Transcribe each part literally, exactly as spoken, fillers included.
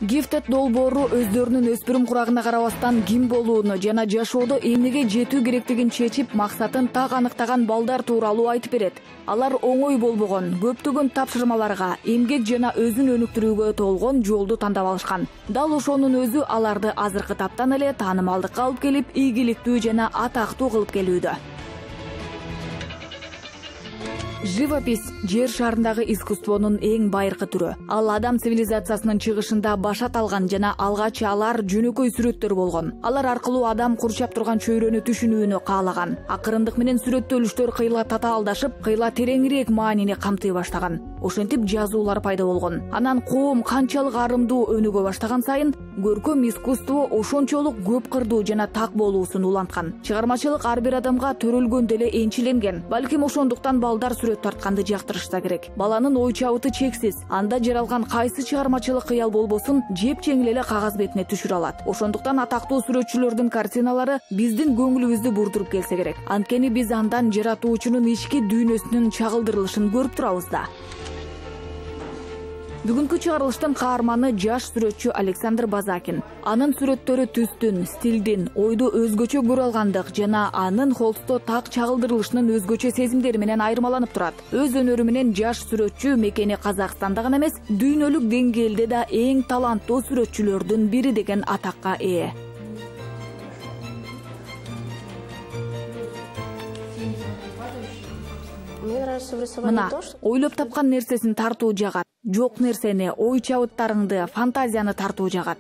Gifted долбоору өздөрүнүн өспүрүм курагына карабастан ким болууну жана жашоодо эмнеге жетүү керектигин чечип, максатын так аныктаган балдар тууралуу айтып берет. Алар оңой болбогон көптөгөн тапшырмаларга, эмгек жана өзүн өнүктүрүүгө толгон жолду тандап алышкан. Дал ошонун өзү аларды азыркы таптан эле таанымалдыкка алып келип, ийгиликтүү жана атактуу кылып келүүдө. Живопись жер шарындагы искусствонун эң байыркы түрү. Ал адам цивилизациясынын чыгышында башат алган жана алгач алар жөнөкөй сүрөттөр болгон. Алар аркылуу адам курчап турган чөйрөнү түшүнүүнү каалаган. Акырындык менен сүрөттөлүштөр кыйла татаалдашып, кыйла тереңирээк маанини камтый баштаган. Ошентип жазуулар пайда болгон. Анан коом канчалык арымдуу өнүгө баштаган сайын, көркөм искусство ошончолук көп кырдуу жана так болуусун уланткан. Чыгармачылык ар бир адамга төрөлгөн деле энчиленген. Балким ошондуктан балдар сүрөт тартканды жактырышса керек. Баланын ой чабыты чексиз. Анда жаралган кайсы чыгармачылык кыял болбосун, жеп жеңил эле кагаз бетине түшүрө алат. Ошондуктан атактуу сүрөтчүлөрдүн картиналары биздин көңүлүбүздү бурдуруп келсе керек. Анткени биз андан жаратуучунун ички дүйнөсүнүн чагылдырылышын көрүп турабыз да. Бүгүнкү чыгарылыштын каарманы жаш сүрөтчү Александр Базакин. Анын сүрөттөрү түстүн, стилдин, ойду өзгөчө көрө алгандык жана анын холсто так чагылдырылышынын өзгөчө сезимдери менен айырмаланып турат. Өз өнөрү менен жаш сүрөтчү мекени Казакстанда гана эмес, дүйнөлүк деңгээлде да эң таланттуу сүрөтчүлөрдүн бири деген атакка ээ. Мына, ойлоп тапкан нерсесин тартуу жагат. Жок нерсени, ой чабыттарыңды, фантазияны тартуу жагат.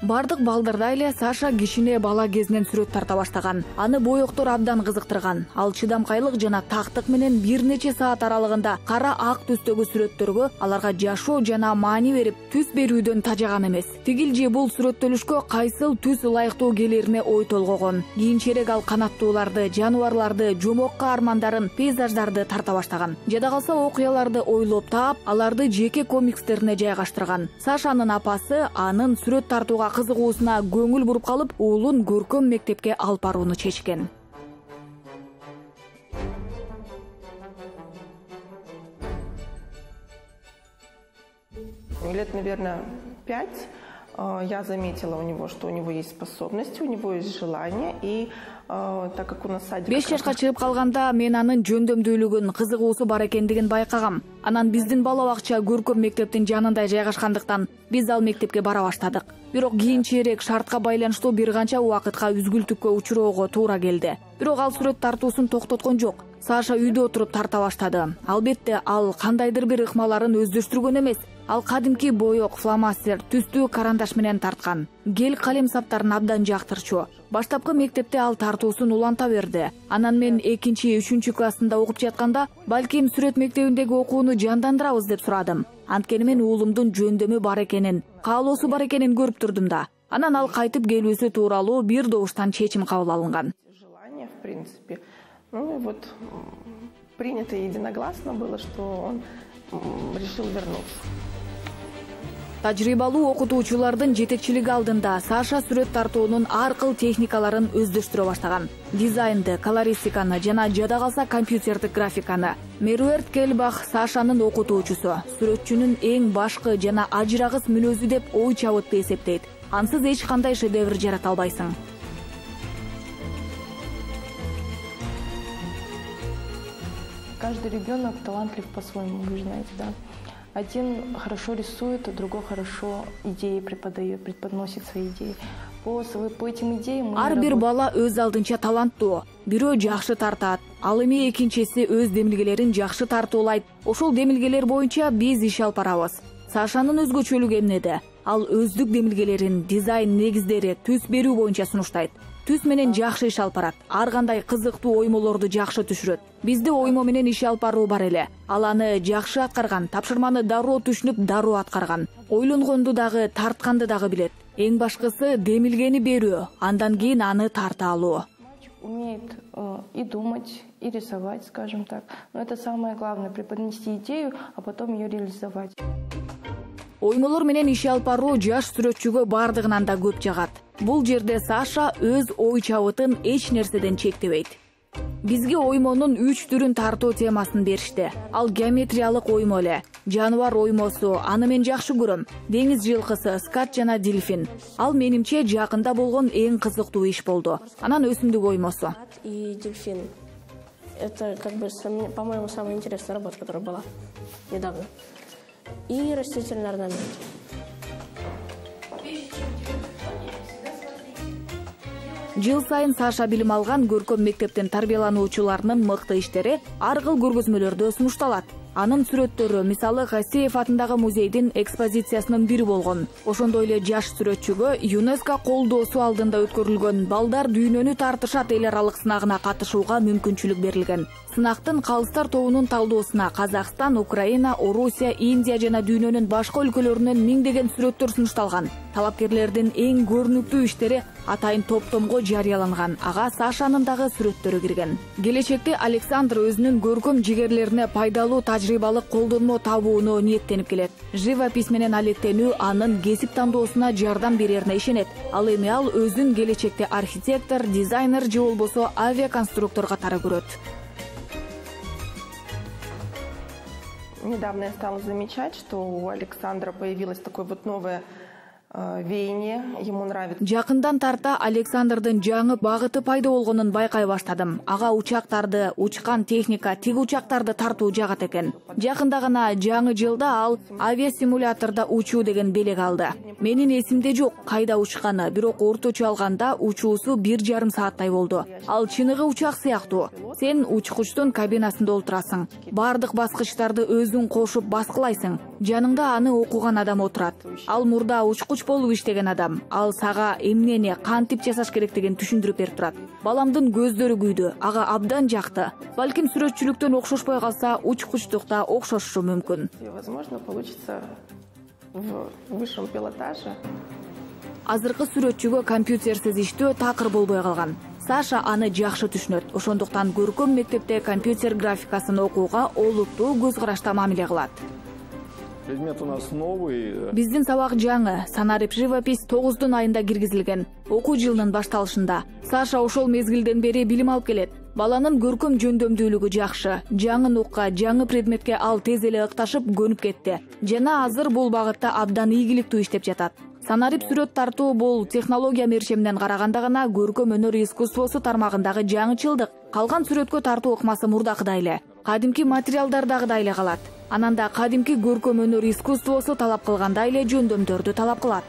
Бардык балдарда эле Саша кичине бала кезинен сүрөт тарта баштаган. Аны боектор абдан кызыктырган. Ал чыдамкайлык жана тактык менен бир нече саат аралыгында кара ак түстөгү сүрөттөргө аларга жашоо жана маани берип, түс берүүдөн тажаган эмес. Тигил же бул сүрөттөлүшкө кайсыл түс ылайыктуу келерине ой толгогон. Кийинчерээк ал канаттууларды, жаныбарларды, жомокка армандарын, пейзаждарды тарта баштаган. Жада калса окуяларды ойлоп таап, аларды жеке комикстерине жайгаштырган. Сашанын апасы анын сүрөт тартууга кызыгуусуна көңүл буруп калып, уулун көркөм мектепке алып барууну чечкен. Лет, наверное, пять я заметила у него, что у него есть способности, у него есть желание, и так как у нас садик... беш жашка чыгып калганда мен анын жөндөмдүүлүгүн, кызыгуусу бар экендигин байкагам. Анан биздин бала бакча көркөм мектептин жанында жайгашкандыктан биз ал мектепке бара баштадык. Бирок кийинчерээк шартка байланыштуу бир канча убакытка үзгүлтүккө учуроого туура келди. Бирок ал сүрөт тартуусун токтоткон жок. Саша үйдө отуруп тарта баштады. Албетте, ал кандайдыр бир ыкмаларын өздөштүргөн эмес. Ал кадимки боек, фломастер, түстүү карандаш менен тарткан. Гель калем саптарын абдан жактырчу. Баштапкы мектепте ал тартуусун уланта берди. Анан мен экинчи, үчүнчү классында окуп жатканда, балким сүрөт мектебиндеги окууну жандандырабыз деп сурадым. Анткени мен уулумдун жөндөмү бар экенин, каалоосу бар экенин көрүп турдум да. Анан ал кайтып келүүсү тууралуу бир добуштан чечим кабыл алынган. Желание, в принципе. Ну и вот принято единогласно было, что он решил вернуться. Тажрыйбалуу окутуучулардын жетекчилиги алдында Саша сүрөт тартуунун ар кыл техникаларын өздөштүрө баштаган. Дизайнды, колористиканы жана жада калса компьютердик графиканы. Меруэрт Келбах Сашанын окутуучусу, сүрөтчүнүн эң башкы жана ажырагыс мүнөзү деп ой чабытты эсептейт. Ансыз эч кандай шедевр жарата албайсың. Каждый ребенок талантлив по-своему, вы знаете, да. Один хорошо рисует, а другой хорошо идеи преподает, преподносит свои идеи. По, по этим идеям мы Ар бир бала өз алдынча таланттуу. Бирөө жакшы тартат, ал эми экинчиси өз демилгелерин жакшы тартуулайт. Ошол демилгелер боюнча биз иш алып барабыз. Сашанын өзгөчөлүгү эмнеде? Ал өздүк демилгелерин, дизайн негиздери, түс берүү боюнча сунуштайт. Түс менен жакшы иш алып барат. Ар кандай кызыктуу оймолорду жакшы түшүрөт. Бизде оймо менен иш алып баруу бар эле. Ал аны жакшы аткарган, тапшырманы дароо түшүнүп, дароо аткарган. Ойлонгонду дагы, тартканды дагы билет. Эң башкысы демилгени берүү, андан кийин аны тарта алуу. Умеет э, и думать, и рисовать, скажем так. Но это самое главное, преподнести идею, а потом ее реализовать. Оймолор менен иш алып баруу жаш сүрөтчүгө бардыгынан да көп жагат. Бул жерде Саша өз ой чабытын эч нерседен чектебейт. Бизге оймонун үч түрүн тартуу темасын беришти. Ал геометриялык оймо эле, жаныбар оймосу, аны мен жакшы көрөм. Деңиз жылкысы, скат жана дельфин. Ал менимче жакында болгон эң кызыктуу иш болду. Анан өсүмдүк оймосу. И дельфин. Это, как бы, по-моему, самая интересная работа, которая была недавно. И растительный орнамент. Жыл сайын Саша билим алган көркөм мектептин тарбиялануучуларынын мыкты иштери ар кыл көргөзмөлөрдө сунушталат. Анын сүрөттөрү, мисалы, Хасеев атындагы музейдин экспозициясынын бири болгон. Ошондой эле жаш сүрөтчүгө ЮНЕСКО колдоосу алдында өткөрүлгөн балдар дүйнөнү тартышат эл аралык сынагына катышууга мүмкүнчүлүк берилген. Сынактын калыстар тобунун талдоосуна Казакстан, Украина, Орусия, Индия жана дүйнөнүн башка өлкөлөрүнөн миңдеген сүрөттөр сунушталган. Талапкерлердин эң көрүнүктүү иштери атайын топтомго жарыяланган. Ага Сашанын дагы сүрөттөрү кирген. Келечекте Александр өзүнүн көркөм жигерлерине пайдалуу тажрыйбалык колдонмо табууну ниеттенип келет. Живопись менен алектенүү анын кесип тандоосуна жардам берерине ишенет. Ал эми ал өзүн келечекте архитектор, дизайнер же болбосо авиаконструктор катары көрөт. Недавно я стала замечать, что у Александра появилось такое вот новое веяние, ему нравится. Жакындан тарта Александрдын жаңы багыты пайда болгонун байкай баштадым. Ага учактарды, учкан техника, тиги учактарды тартуу жагат экен. Жакында гана жаңы жылда ал авиасимулятордо учуу деген белек алды. Менин эсимде жок кайда учканы, бирок орточо алганда учуусу бир жарым сааттай болду. Ал чыныгы учак сыяктуу. Сен учкучтун кабинасында олтурасың. Бардык баскычтарды өзүң кошуп баскылайсың. Жаныңда аны окуган адам отурат. Ал мурда учкуч болуп иштеген адам. Ал сага эмнени, кантип жасаш керектигин түшүндүрүп берип турат. Баламдын көздөрү күйдү, ага абдан жакты. Балким сүрөтчүлүктөн окшошпой калса, учкучтукта окшошу мүмкүн. Возможно, получится в высшем пилотаже. Азыркы сүрөтчүгө компьютерсиз иштөө такыр болбой калган. Саша аны жакшы түшүнөт. Ошондуктан көркөм мектепте компьютер графикасын окууга олуттуу көз карашта мамиле кылат. Предмет у нас новый. Биздин сабак жаңы, санарип живопись тогуздун айында киргизилген. Окуу жылынын башталышында. Саша ошол мезгилден бери билим алып келет. Баланын көркөм жөндөмдүүлүгү жакшы. Жаңы нукка, жаңы предметке ал тез эле ыкташып көнүп кетти. Жана азыр бул багытта абдан ийгиликтүү иштеп жатат. Санарип сүрөт тартуу бул технология мерчеминен караганда гана көркөм өнөр искусствосу тармагындагы жаңычылдык. Калган сүрөткө тартуу ыкмасы мурдакыдай эле. Кадимки материалдардагыдай эле калат. Анан да кадимки көркөм өнөр искусствосу талап кылгандай эле жөндөмдөрдү талап кылат.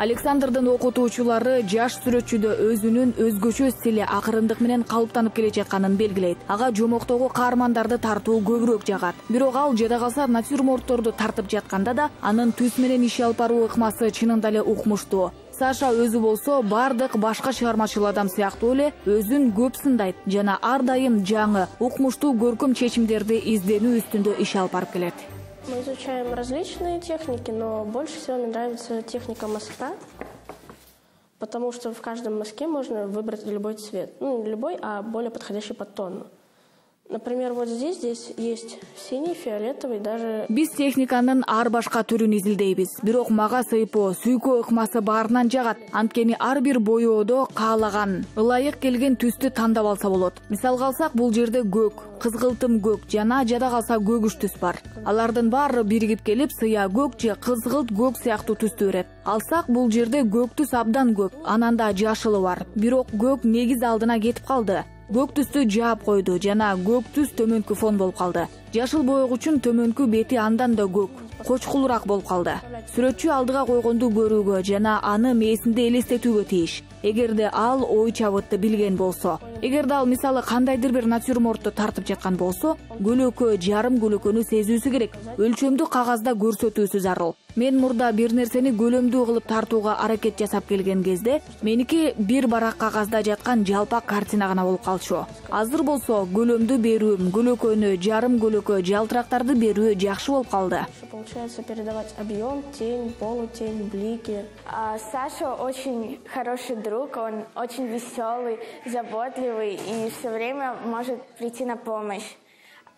Александрдын окутуучулары жаш сүрөтчүдө өзүнүн өзгөчө стили, акырындык менен калыптанып келе жатканын белгилейт. Ага жомоктогу каармандарды тартуу көбүрөөк жагат. Бирок ал жада калса натюрмортторду тартып жатканда да анын түс менен иш алып баруу ыкмасы чынында эле укмуштуу. Саша өзү болсо бардык башка чыгармачыл адам сыяктуу эле өзүн көп сындайт жана ар дайым жаңы, укмуштуу көркөм чечимдерди изденүү үстүндө иш алып барып келет. Мы изучаем различные техники, но больше всего мне нравится техника мазка, потому что в каждом мазке можно выбрать любой цвет. Ну, не любой, а более подходящий под тон. Например, вот здесь, здесь есть синий, фиолетовый, даже... Биз техниканын ар башка түрүн изилдейбиз. Бирок мага сыйпоо, сүйкөө ыкмасы баарынан жагат. Анткени ар бир боyoодо каалаган, ылайык келген түстү тандап алса болот. Мисалга алсак, бул жерде көк, кызгылтым көк жана жада калса көгүш түс бар. Алардын баары биригип келип, сыя көк же кызгылт көк сыяктуу түстү берет. Алсак, бул жерде көк түс абдан көп, анан да жашылы бар. Бирок көк негиз алдына кетип калды. Көк түстү жаап койду жана көк түс төмөнкү фон болуп калды. Жашыл боёгучун төмөнкү бети андан да көк, кочкулураак болуп калды. Сүрөтчү алдыга койгонду көрүүгө жана аны мээсинде элестетүүгө тийиш. Эгерде ал ой чабытты билген болсо, эгерде ал мисалы кандайдыр бир натюрмортту тартып жаткан болсо, көлөкө, жарым көлөкөнү сезүүсү керек. Өлчөмдү кагазда көрсөтүүсү зарыл. Мен мурда бир нерсени көлөмдүү кылып тартууга аракет жасап келген кезде, меники бир барак кагазда жаткан жалпак картина гана болуп калчу. Азыр болсо көлөмдү берүүм, көлөкөнү, жарым көлөкө, жалтырактарды берүү жакшы болуп калды. Получается передавать объем, тень, полутень, блики. А Саша очень хороший друг, он очень веселый, заботливый и все время может прийти на помощь.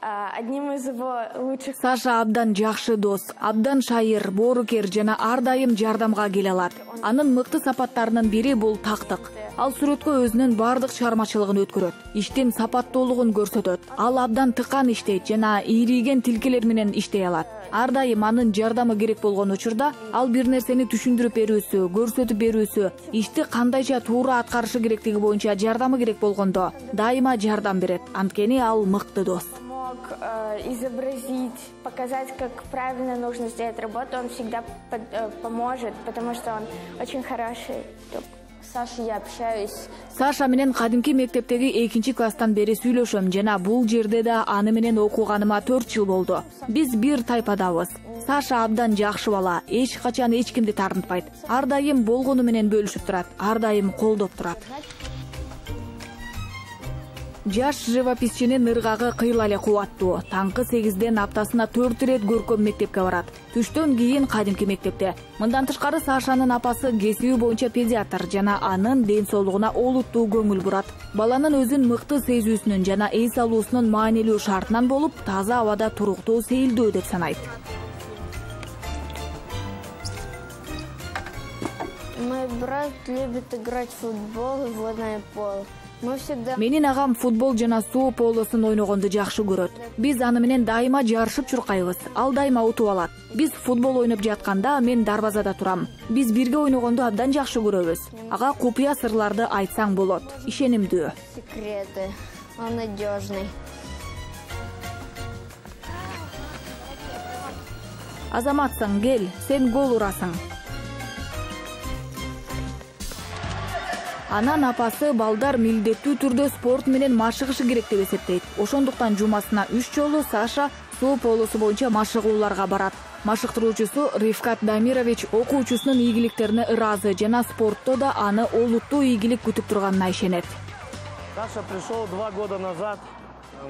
Одним из его лучших... Саша абдан жакшы дос, абдан шайыр, боорукер жана ар дайым жардамга келе алат. Анын мыкты сапаттарынын бири бул тактык. Ал сүрөткө өзүнүн бардык чыгармачылыгын өткөрөт, иштин сапаттуулугун көрсөтөт. Ал абдан тыкан иштейт жана ийриген тилкелер менен иштей алат. Ар дайым анын жардамы керек болгон учурда ал бир нерсени түшүндүрүп берүүсү, көрсөтүп берүүсү, ишти кандайча туура аткарышы керектиги боюнча жардамы керек болгондо дайыма жардам берет. Анткени ал мыкты дос. Изобразить, показать, как правильно нужно сделать работу, он всегда под, э, поможет, потому что он очень хороший. С Сашей я общаюсь. Саша менен кадимки мектептеги экинчи класстан бери сүйлөшөм жана бул жерде да аны менен окуганыма төрт жыл болду. Биз бир тайпадабыз. Саша абдан жакшы бала, эч качан эч кимди тартынтпайт. Ар дайым болгону менен бөлүшүп турат, ар дайым колдоп турат. Жаш живописчинин ыргагы кыйла эле кубаттуу. Таңкы сегизден аптасына төрт ирет көркөм мектепке барат. Түштөн кийин кадимки мектепте. Мындан тышкары Сашанын апасы кесиби боюнча педиатр жана анын ден соолугуна олуттуу көңүл бурат. Баланын өзүн мыкты сезүүсүнүн жана эс алуусунун маанилүү шартынан болуп, таза абада туруктуу сейилдөө деп санайт. Мой брат любит играть в футбол и водное поло. Менин агам футбол жана суу полосун ойногонду жакшы көрөт. Биз аны менен дайыма жарышып чуркайбыз. Ал дайыма утуп алат. Биз футбол ойноп жатканда мен дарбазада турам. Биз бирге ойногонду абдан жакшы көрөбүз. Ага купуя сырларды айтсаң болот. Ишенимдүү. Секреты. Он надежный. Азаматсың, кел, сен гол урасың. Анан апасы балдар милдеттүү түрдө спорт менен машыгышы керек деп эсептейт. Ошондуктан жумасына үч жолу Саша суу полосу боюнча машыгууларга барат. Машыктыруучусу Рифкат Дамирович окуучусунун ийгиликтерине ыраазы жана спортто да аны олуттуу ийгилик күтүп турганына ишенет. Саша пришел два года назад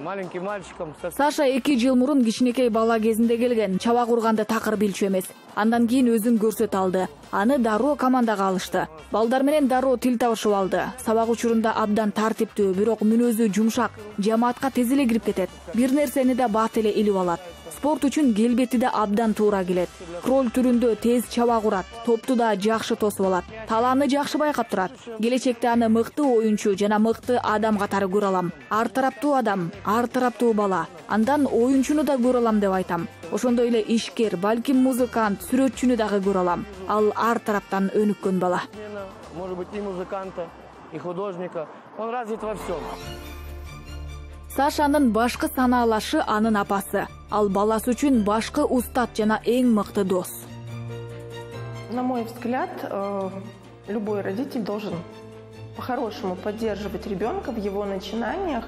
маленьким мальчиком. Саша эки жыл мурун кичинекей бала кезинде келген, чабак урганды такыр билчү эмес. Андан кийин өзүн көрсөтө алды. Аны дароо командага алышты. Балдар менен дароо тил табышып алды. Сабак учурунда абдан тартиптүү, бирок мүнөзү жумшак, жамаатка тез эле кирип кетет. Бир нерсени да бат эле илип алат. Спорт үчүн келбети да абдан туура келет. Кроль түрүндө тез чабак урат, топту да жакшы тосуп алат. Талааны жакшы байкап турат. Келечекте аны мыкты оюнчу жана мыкты адам катары көрө алам. Ар тараптуу адам, ар тараптуу бала. Андан оюнчуну да көрө алам деп айтам. Ошондой эле ишкер, балким музыкант, сүрөтчүнү дагы көрө алам. Ал ар тараптан өнүккөн бала. Может быть, и музыканта, и художника. Он развит во всем. Сашанын башкы санаалашы анын апасы. Ал баласы үчүн башкы устат жана эң мыкты дос. На мой взгляд, любой родитель должен по-хорошему поддерживать ребенка в его начинаниях.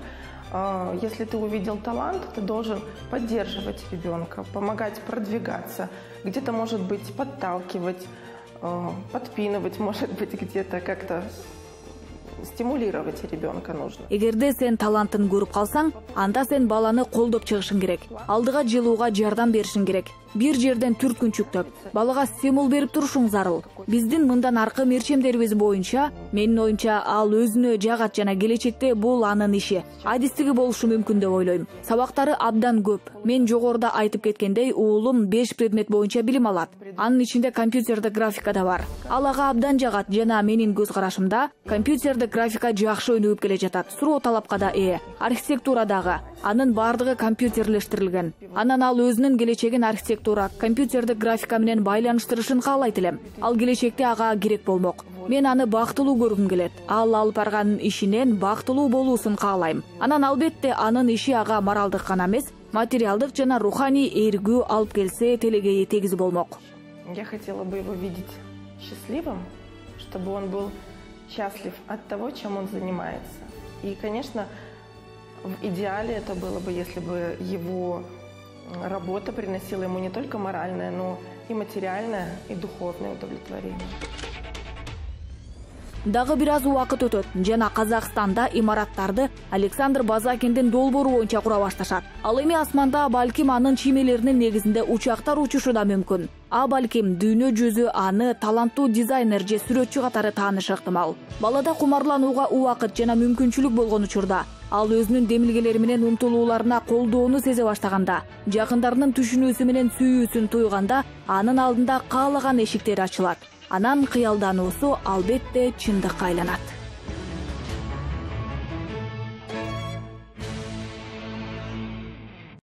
Если ты увидел талант, ты должен поддерживать ребенка, помогать продвигаться, где-то, может быть, подталкивать, подпинывать, может быть, где-то как-то стимулировать ребенка нужно. Эгерде сен талантын көрүп калсаң, анда сен баланы колдоп чыгышың керек. Алдыга жылууга жардам беришиң керек. Бир жерден түрткүнчүктөп, балага стимул берип турушуң зарыл. Биздин мындан аркы мерчемдерибиз боюнча, менин оюмча, ал өзүнө жагат жана келечекте бул анын иши. Адистиги болушу мүмкүн деп ойлойм. Сабактары абдан көп. Мен жогоруда айтып кеткендей, уулум беш предмет боюнча билим алат. Анын ичинде компьютердик графика да бар. Ал ага абдан жагат жана менин көз карашымда компьютердик графика жакшы өнүгүп келе жатат. Суроо талапка да ээ. Архитектура дагы. Анын бардыгы компьютерлештирилген. Анан ал өзүнүн келечегин архитектура, компьютердик графика менен байланыштырышын каалайт элем. Ал келечекте ага керек болмок. Мен аны бактылуу көргүм келет. Ал алып барган ишинен бактылуу болуусун каалайм. Анан албетте анын иши ага моралдык гана эмес, материалдык жана руханий эргүү алып келсе телегейи тегиз болмок. Я хотела бы его видеть счастливым, чтобы он был счастлив от того, чем он занимается. И, конечно, в идеале это было бы, если бы его работа приносила ему не только моральное, но и материальное, и духовное удовлетворение. Дагы бир аз убакыт өтөт жана Казакстанда имараттарды Александр Базакиндин долбоору боюнча кура башташат. Ал эми асманда балким анын чиймелеринин негизинде учактар учушу да мүмкүн. А балким дүйнө жүзү аны таланттуу дизайнер же сүрөтчү катары таанышы ыктымал. Балада кумарланууга убакыт жана мүмкүнчүлүк болгон учурда ал өзүнүн демилгелери менен умтулууларына колдоону сезе баштаганда, жакындарынын түшүнүүсү менен сүйүүсүн туйганда, анын алдында каалаган эшиктер ачылат. Анан кыялдануусу албетте чындыкка айланат.